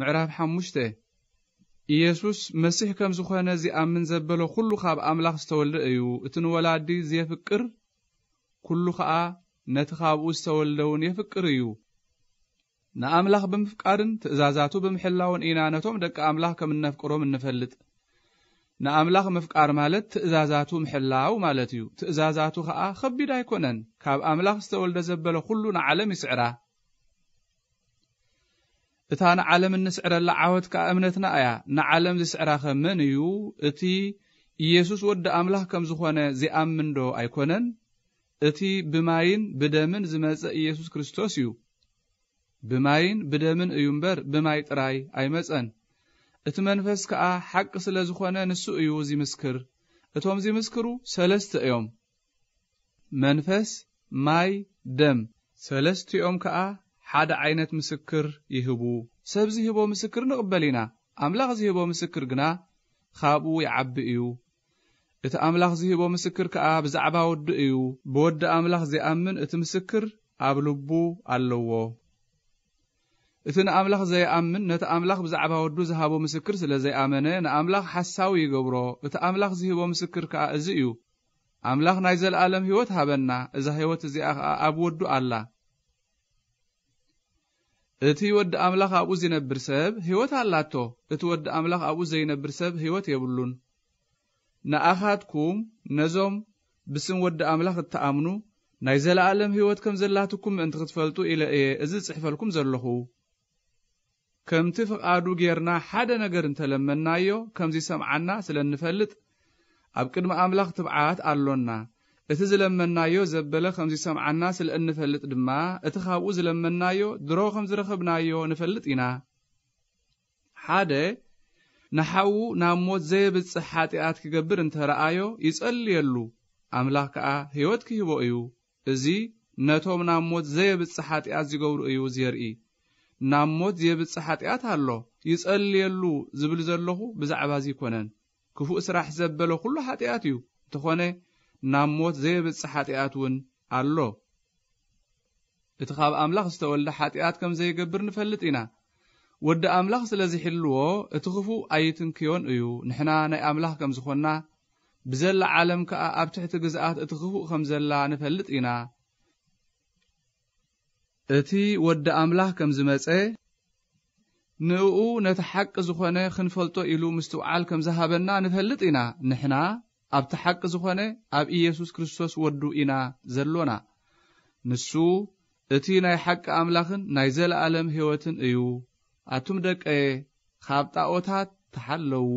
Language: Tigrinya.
ምዕራፍ ሓሙሽተ። ኢየሱስ መሲሕ ከም ዝኾነ ዚኣምን ዘበለ ኩሉ ካብ ኣምላኽ ዝተወልደ እዩ። እቲ ንወላዲ ዜፍቅር ኩሉ ኸኣ ነቲ ካብኡ ዝተወልደ እውን የፍቅር እዩ። ንኣምላኽ ብምፍቃርን ትእዛዛቱ ብምሕላውን ኢና ነቶም ደቂ ኣምላኽ ከም እነፍቅሮም እንፈልጥ። ንኣምላኽ ምፍቃር ማለት ትእዛዛቱ ምሕላው ማለት እዩ። ትእዛዛቱ ኸኣ ኸቢድ ኣይኮነን። ካብ ኣምላኽ ዝተወልደ ዘበለ ኩሉ ንዓለም ይስዕራ። እታ ንዓለም እንስዕረላ ዓወት ከኣ እምነትና እያ። ንዓለም ዝስዕራ ኸ መን እዩ? እቲ ኢየሱስ ወዲ ኣምላኽ ከም ዝኾነ ዚኣምን ዶ ኣይኮነን? እቲ ብማይን ብደምን ዝመጸ ኢየሱስ ክርስቶስ እዩ። ብማይን ብደምን እዩ እምበር፣ ብማይ ጥራይ ኣይመጸን። እቲ መንፈስ ከኣ ሓቂ ስለ ዝኾነ፣ ንሱ እዩ ዚምስክር። እቶም ዚምስክሩ ሰለስተ እዮም። መንፈስ፣ ማይ፣ ደም፣ ሰለስቲኦም ከኣ ሓደ ዓይነት ምስክር ይህቡ። ሰብ ዝህቦ ምስክር ንቕበል ኢና። ኣምላኽ ዝህቦ ምስክር ግና ካብኡ ይዓቢ እዩ። እቲ ኣምላኽ ዝህቦ ምስክር ከኣ ብዛዕባ ወዱ እዩ። ብወዲ ኣምላኽ ዚኣምን እቲ ምስክር ኣብ ልቡ ኣለዎ። እቲ ንኣምላኽ ዘይኣምን ነቲ ኣምላኽ ብዛዕባ ወዱ ዝሃቦ ምስክር ስለ ዘይኣመነ፣ ንኣምላኽ ሓሳዊ ይገብሮ። እቲ ኣምላኽ ዝህቦ ምስክር ከኣ እዚ እዩ፣ ኣምላኽ ናይ ዘለኣለም ህይወት ሃበና፣ እዛ ህይወት እዚኣ ኸኣ ኣብ ወዱ ኣላ። እቲ ወዲ ኣምላኽ ኣብኡ ዚነብር ሰብ ህይወት ኣላቶ፣ እቲ ወዲ ኣምላኽ ኣብኡ ዘይነብር ሰብ ህይወት የብሉን። ንኣኻትኩም ነዞም ብስም ወዲ ኣምላኽ እትኣምኑ ናይ ዘለኣለም ህይወት ከም ዘላትኩም ምእንቲ ክትፈልጡ ኢለ እየ እዚ ዝጽሕፈልኩም ዘለኹ። ከምቲ ፍቓዱ ጌርና ሓደ ነገር እንተለመንናዮ ከም ዚሰምዓና ስለ እንፈልጥ፣ ኣብ ቅድሚ ኣምላኽ ትብዓት ኣሎና። እቲ ዝለመንናዮ ዘበለ ከም ዚሰምዓና ስለ እንፈልጥ ድማ፣ እቲ ኻብኡ ዝለመንናዮ ድሮ ከም ዝረኸብናዮ ንፈልጥ ኢና። ሓደ ንሓዉ ናብ ሞት ዘየብጽሕ ሓጢኣት ኪገብር እንተ ረኣዮ፣ ይጸልየሉ፣ ኣምላኽ ከኣ ህይወት ኪህቦ እዩ። እዚ ነቶም ናብ ሞት ዘየብጽሕ ሓጢኣት ዚገብሩ እዩ ዜርኢ። ናብ ሞት ዜብጽሕ ሓጢኣት ኣሎ፣ ይጸልየሉ ዝብል ዘለኹ ብዛዕባ እዚ ኣይኮነን። ክፉእ ስራሕ ዘበለ ኩሉ ሓጢኣት እዩ። እንተኾነ፣ ናብ ሞት ዘየብጽሕ ሓጢኣት እውን ኣሎ። እቲ ካብ ኣምላኽ ዝተወልደ ሓጢኣት ከም ዘይገብር ንፈልጥ ኢና። ወዲ ኣምላኽ ስለ ዝሕልዎ፣ እቲ ክፉእ ኣይትንክዮን እዩ። ንሕና ናይ ኣምላኽ ከም ዝኾንና፣ ብዘላ ዓለም ከኣ ኣብ ትሕቲ ግዝኣት እቲ ክፉእ ከም ዘላ ንፈልጥ ኢና። እቲ ወዲ ኣምላኽ ከም ዝመጸ፣ ንእኡ ነቲ ሓቂ ዝኾነ ክንፈልጦ ኢሉ ምስትውዓል ከም ዝሃበና ንፈልጥ ኢና። ንሕና ኣብቲ ሓቂ ዝኾነ ኣብ ኢየሱስ ክርስቶስ ወዱ ኢና ዘሎና። ንሱ እቲ ናይ ሓቂ ኣምላኽን ናይ ዘለኣለም ህይወትን እዩ። ኣቱም ደቀየ፣ ካብ ጣኦታት ተሓለዉ።